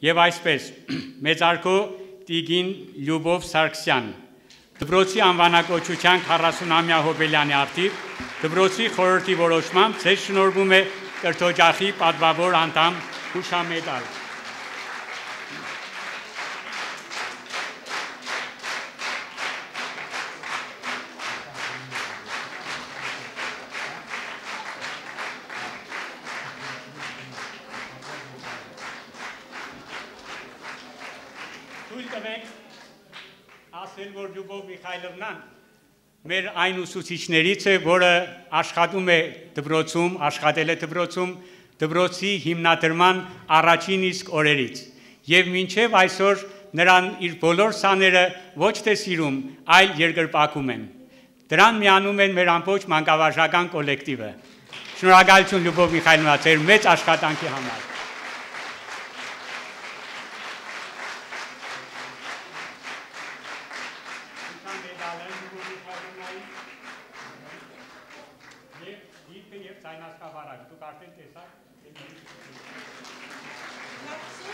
եւ այսպես մեծարգո Տիգին Լյուբով Սարգսյան, դպրոցի անվանակոչության 40-ամյա հոբելյանի արդիվ, դպրոցի խորհրդի որոշմամբ ձեզ շնորհվում է կրթօջախի պատվավոր անդամ հուշամեդալ։ Ասել, որ Լյուբով Միխայլովնան մեր այն ուսուցիչներից է, որը աշխատում է դպրոցում, աշխատել է դպրոցում, դպրոցի հիմնադրման առաջին իսկ օրերից։ Եվ մինչև այսօր նրան իր բոլոր սաները ոչ թե սիրում, այլ երկրպագում են։ Դրան միանում են մեր ամբողջ մանկավարժական կոլեկտիվը։ Շնորհակալություն Լյուբով Միխայլովնա, ձեր մեծ աշխատանքի համար։ Merci.